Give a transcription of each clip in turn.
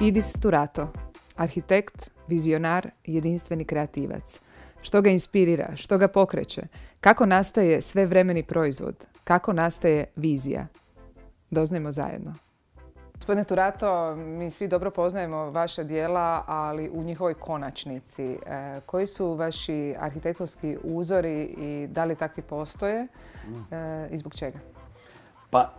Idis Turato, arhitekt, vizionar, jedinstveni kreativac. Što ga inspirira, što ga pokreće, kako nastaje svevremeni proizvod, kako nastaje vizija. Doznajmo zajedno. Gospodine Turato, mi svi dobro poznajemo vaša djela, ali u njihovoj konačnici. Koji su vaši arhitektonski uzori i da li takvi postoje i zbog čega? Pa,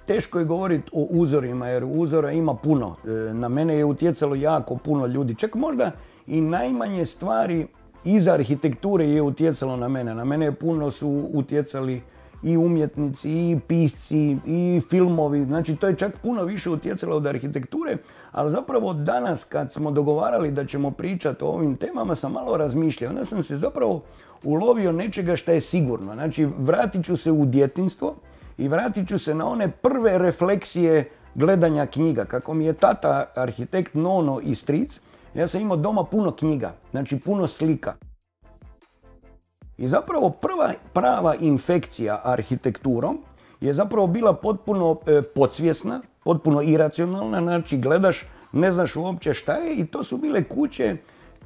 teško je govoriti o uzorima, jer uzora ima puno. Na mene je utjecalo jako puno ljudi. Čak možda i najmanje stvari iza arhitekture je utjecalo na mene. Na mene puno su utjecali i umjetnici, i pisci, i filmovi. Znači, to je čak puno više utjecalo od arhitekture. Ali zapravo danas, kad smo dogovarali da ćemo pričati o ovim temama, sam malo razmišljao. Onda sam se zapravo ulovio nečega što je sigurno. Znači, vratit ću se u djetinjstvo i vratit ću se na one prve refleksije gledanja knjiga. Kako mi je tata arhitekt Nono i stric, ja sam imao doma puno knjiga, znači puno slika. I zapravo prva prava infekcija arhitekturom je zapravo bila potpuno podsvjesna, potpuno iracionalna. Znači gledaš, ne znaš uopće šta je, i to su bile kuće,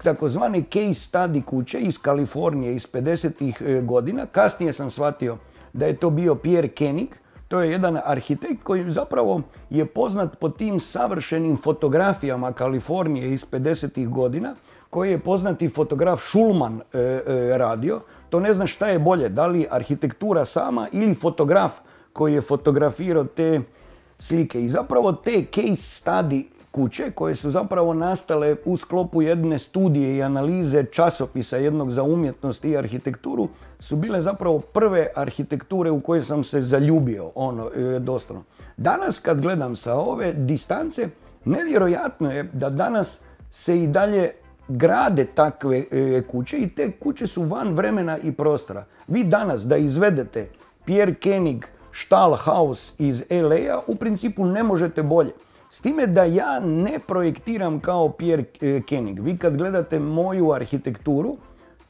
takozvane case study kuće iz Kalifornije iz 50-ih godina. Kasnije sam shvatio da je to bio Pierre Koenig. To je jedan arhitekt koji zapravo je poznat po tim savršenim fotografijama Kalifornije iz 50-ih godina, koji je poznati fotograf Schulman radio. To ne znam šta je bolje, da li arhitektura sama ili fotograf koji je fotografirao te slike. I zapravo te case study kuće, koje su zapravo nastale u sklopu jedne studije i analize časopisa jednog za umjetnost i arhitekturu, su bile zapravo prve arhitekture u koje sam se zaljubio, doslovno. Danas kad gledam sa ove distance, nevjerojatno je da danas se i dalje grade takve kuće i te kuće su van vremena i prostora. Vi danas da izvedete Pierre Koenig Stahlhaus iz LA-a u principu ne možete bolje. S time da ja ne projektiram kao Pierre Koenig. Vi kad gledate moju arhitekturu,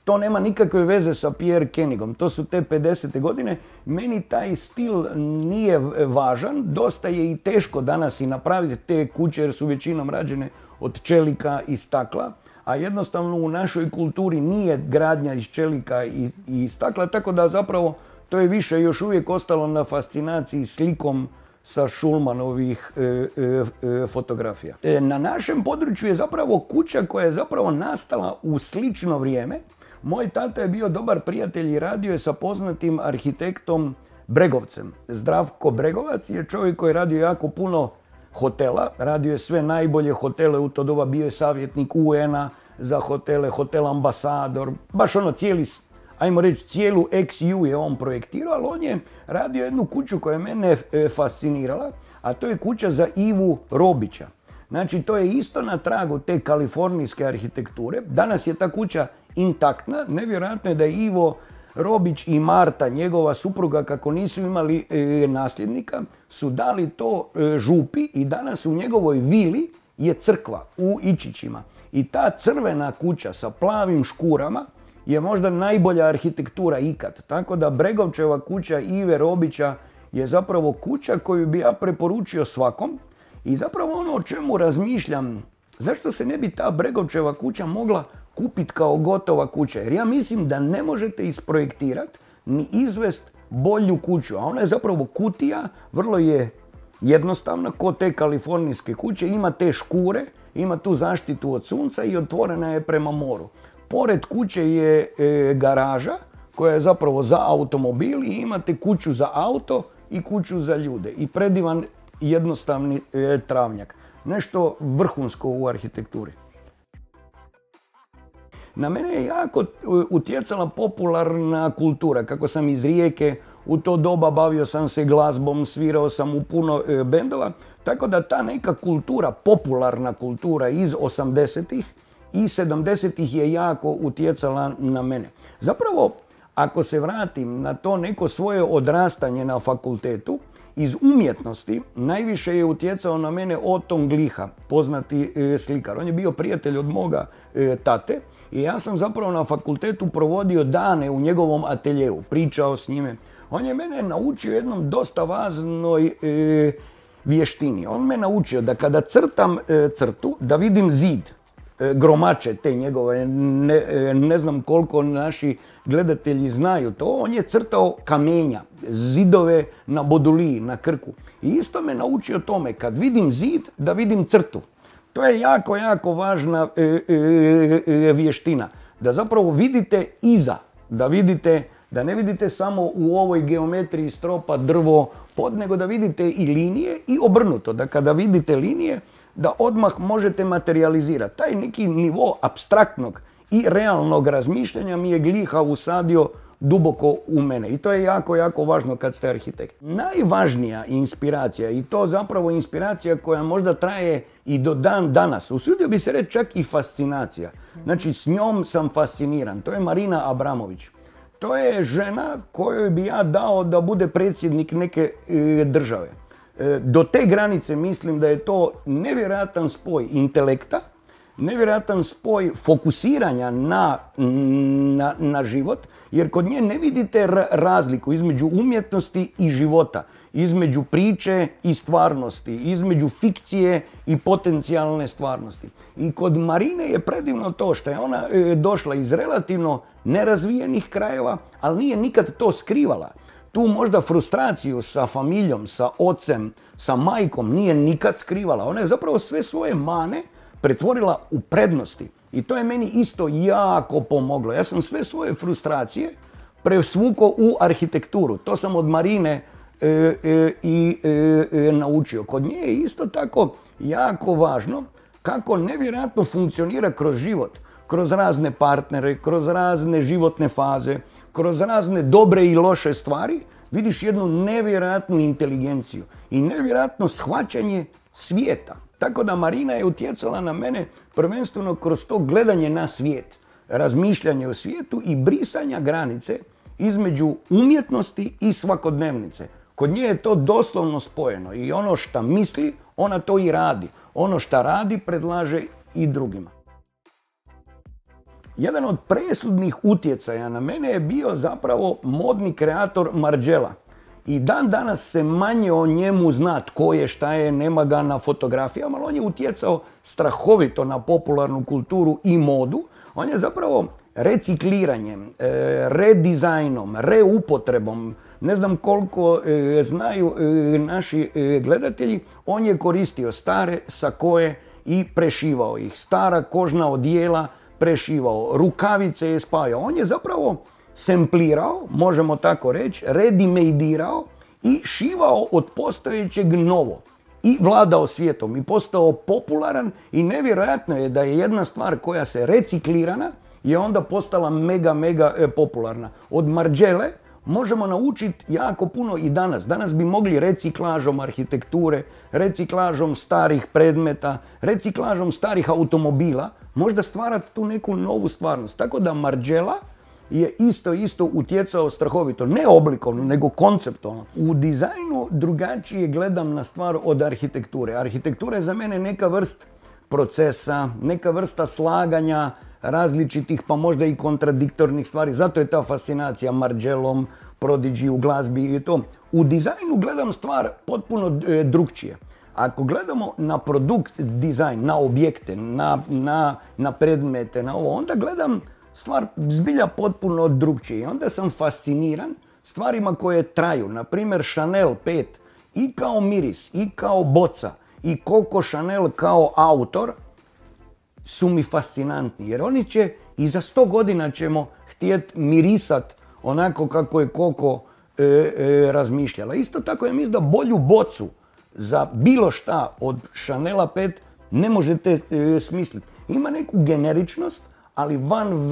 to nema nikakve veze sa Pierre Koenigom. To su te 50. godine. Meni taj stil nije važan. Dosta je i teško danas i napraviti te kuće jer su većinom rađene od čelika i stakla. A jednostavno u našoj kulturi nije gradnja iz čelika i stakla. Tako da zapravo to je više još uvijek ostalo na fascinaciji slikom sa Schulmanovih fotografija. Na našem području je zapravo kuća koja je zapravo nastala u slično vrijeme. Moj tata je bio dobar prijatelj i radio je sa poznatim arhitektom Bregovcem. Zdravko Bregovac je čovjek koji je radio jako puno hotela. Radio je sve najbolje hotele u to doba, bio je savjetnik UN-a za hotele, Hotel Ambasador, baš ajmo reći, cijelu XU je on projektirao, ali on je radio jednu kuću koja je mene fascinirala, a to je kuća za Ivu Robića. Znači, to je isto na tragu te kalifornijske arhitekture. Danas je ta kuća intaktna. Nevjerojatno je da je Ivo Robić i Marta, njegova supruga, kako nisu imali nasljednika, su dali to župi i danas u njegovoj vili je crkva u Ičićima. I ta crvena kuća sa plavim škurama je možda najbolja arhitektura ikad. Tako da Bregovčeva kuća Ive Robića je zapravo kuća koju bi ja preporučio svakom. I zapravo ono o čemu razmišljam, zašto se ne bi ta Bregovčeva kuća mogla kupiti kao gotova kuća? Jer ja mislim da ne možete isprojektirati ni izvest bolju kuću. A ona je zapravo kutija, vrlo je jednostavna, ko te kalifornijske kuće. Ima te škure, ima tu zaštitu od sunca i otvorena je prema moru. Pored kuće je garaža koja je zapravo za automobil i imate kuću za auto i kuću za ljude. I predivan jednostavni travnjak. Nešto vrhunsko u arhitekturi. Na mene je jako utjecala popularna kultura. Kako sam iz Rijeke, u to doba bavio sam se glazbom, svirao sam u puno bendova. Tako da ta neka kultura, popularna kultura iz 80-ih i 70-ih je jako utjecala na mene. Zapravo, ako se vratim na to neko svoje odrastanje na fakultetu, iz umjetnosti najviše je utjecao na mene Oton Gliha, poznati slikar. On je bio prijatelj od moga tate i ja sam zapravo na fakultetu provodio dane u njegovom ateljeu, pričao s njime. On je mene naučio jednom dosta važnoj vještini. On me naučio da kada crtam crtu, da vidim zid, gromače te njegove, ne znam koliko naši gledatelji znaju to, on je crtao kamenja, zidove na Boduliji, na Krku. I isto me naučio tome, kad vidim zid, da vidim crtu. To je jako, jako važna vještina. Da zapravo vidite iza, da ne vidite samo u ovoj geometriji stropa, drvo, pod, nego da vidite i linije i obrnuto. Da kada vidite linije, da odmah možete materializirati. Taj neki nivo apstraktnog i realnog razmišljanja mi je Gliha usadio duboko u mene. I to je jako, jako važno kad ste arhitekt. Najvažnija inspiracija, i to zapravo inspiracija koja možda traje i do dan danas, usudio bi se reći čak i fascinacija. Znači, s njom sam fasciniran. To je Marina Abramović. To je žena kojoj bi ja dao da bude predsjednik neke države. Do te granice mislim da je to nevjerojatan spoj intelekta, nevjerojatan spoj fokusiranja na život, jer kod nje ne vidite razliku između umjetnosti i života, između priče i stvarnosti, između fikcije i potencijalne stvarnosti. I kod Marine je predivno to što je ona došla iz relativno nerazvijenih krajeva, ali nije nikad to skrivala. Tu možda frustraciju sa familijom, sa ocem, sa majkom nije nikad skrivala. Ona je zapravo sve svoje mane pretvorila u prednosti. I to je meni isto jako pomoglo. Ja sam sve svoje frustracije presvukao u arhitekturu. To sam od Marine naučio. Kod nje je isto tako jako važno kako nevjerojatno funkcionira kroz život. Kroz razne partnere, kroz razne životne faze, kroz razne dobre i loše stvari, vidiš jednu nevjerojatnu inteligenciju i nevjerojatno shvaćanje svijeta. Tako da Marina je utjecala na mene prvenstveno kroz to gledanje na svijet, razmišljanje o svijetu i brisanja granice između umjetnosti i svakodnevnice. Kod nje je to doslovno spojeno i ono što misli, ona to i radi. Ono što radi, predlaže i drugima. Jedan od presudnih utjecaja na mene je bio zapravo modni kreator Margiela. I dan danas se manje o njemu zna tko je, šta je, nema ga na fotografijama, ali on je utjecao strahovito na popularnu kulturu i modu. On je zapravo recikliranjem, redizajnom, reupotrebom, ne znam koliko znaju naši gledatelji, on je koristio stare sakoje i prešivao ih. Stara kožna odijela prešivao, rukavice je spajao. On je zapravo semplirao, možemo tako reći, redimedirao i šivao od postojećeg novo. I vladao svijetom i postao popularan i nevjerojatno je da je jedna stvar koja se reciklirana je onda postala mega popularna. Od Margiele možemo naučiti jako puno i danas. Danas bi mogli reciklažom arhitekture, reciklažom starih predmeta, reciklažom starih automobila možda stvarati tu neku novu stvarnost. Tako da Margiela je isto utjecao strahovito, ne oblikovno, nego konceptualno. U dizajnu drugačije gledam na stvar od arhitekture. Arhitektura je za mene neka vrst procesa, neka vrsta slaganja različitih, pa možda i kontradiktornih stvari. Zato je ta fascinacija Margielom, Prodigy u glazbi i to. U dizajnu gledam stvar potpuno drugčije. Ako gledamo na produkt dizajn, na objekte, na predmete, na ovo, onda gledam stvar zbilja potpuno drugčije. I onda sam fasciniran stvarima koje traju. Naprimjer, Chanel 5 i kao miris, i kao boca, i Coco Chanel kao autor su mi fascinantni. Jer oni će, i za 100 godina ćemo htjeti mirisat onako kako je Coco razmišljala. Isto tako ja mislim da bolju bocu za bilo šta od Chanela 5 ne možete smisliti. Ima neku generičnost, ali van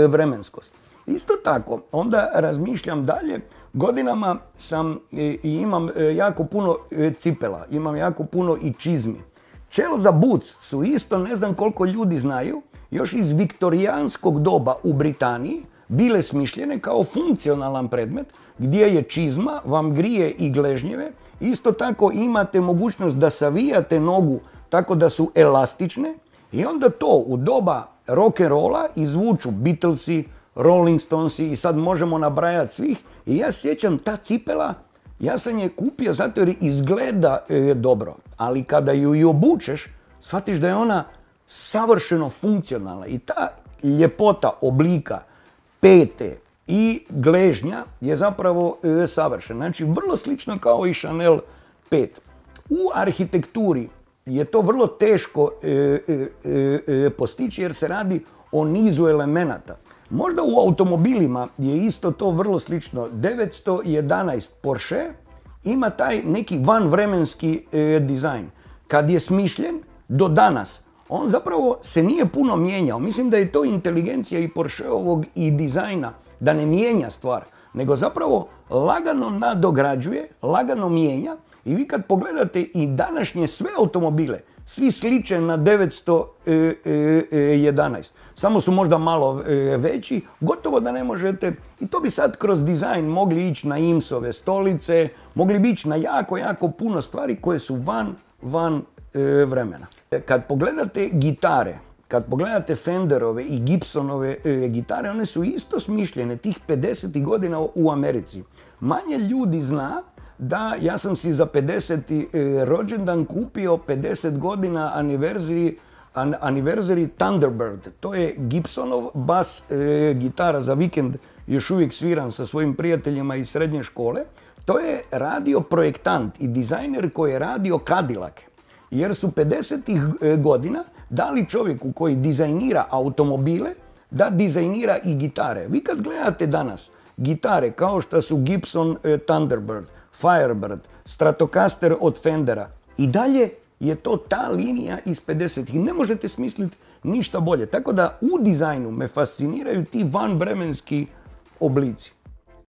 vremenskost. Isto tako, onda razmišljam dalje, godinama sam i imam jako puno cipela, imam jako puno i čizmi. Chelsea boots su isto, ne znam koliko ljudi znaju, još iz viktorijanskog doba u Britaniji bile smišljene kao funkcionalan predmet gdje je čizma, vam grije i gležnjeve. Isto tako imate mogućnost da savijate nogu tako da su elastične i onda to u doba rock'n'rolla izvuču Beatlesi, Rolling Stonesi i sad možemo nabrajati svih. I ja sjećam, ta cipela Ja sam je kupio zato jer izgleda dobro, ali kada ju i obučeš, shvatiš da je ona savršeno funkcionalna i ta ljepota oblika pete i gležnja je zapravo savršena. Znači, vrlo slično kao i Chanel 5. U arhitekturi je to vrlo teško postići jer se radi o nizu elemenata. Možda u automobilima je isto to vrlo slično. 911 Porsche ima taj neki vanvremenski dizajn. Kad je smišljen do danas, on zapravo se nije puno mijenjao. Mislim da je to inteligencija i Porscheovog i dizajna, da ne mijenja stvar, nego zapravo lagano nadograđuje, lagano mijenja. I vi kad pogledate i današnje sve automobile, svi sliče na 911. Samo su možda malo veći, gotovo da ne možete. I to bi sad kroz dizajn mogli ići na IMS-ove stolice, mogli bi ići na jako, jako puno stvari koje su van vremena. Kad pogledate gitare, kad pogledate Fenderove i Gibsonove gitare, one su isto smišljene tih 50. godina u Americi. Manje ljudi zna da ja sam si za 50. rođendan kupio 50 godina anniversary Thunderbird. To je Gibsonov bas gitara, za vikend još uvijek sviram sa svojim prijateljima iz srednje škole. To je radio projektant i dizajner koji je radio Cadillac. Jer su 50. godina dali čovjeku koji dizajnira automobile da dizajnira i gitare. Vi kad gledate danas gitare kao što su Gibson Thunderbird, Firebird, Stratocaster od Fendera, i dalje je to ta linija iz 50-ih. Ne možete smisliti ništa bolje. Tako da u dizajnu me fasciniraju ti vanvremenski oblici.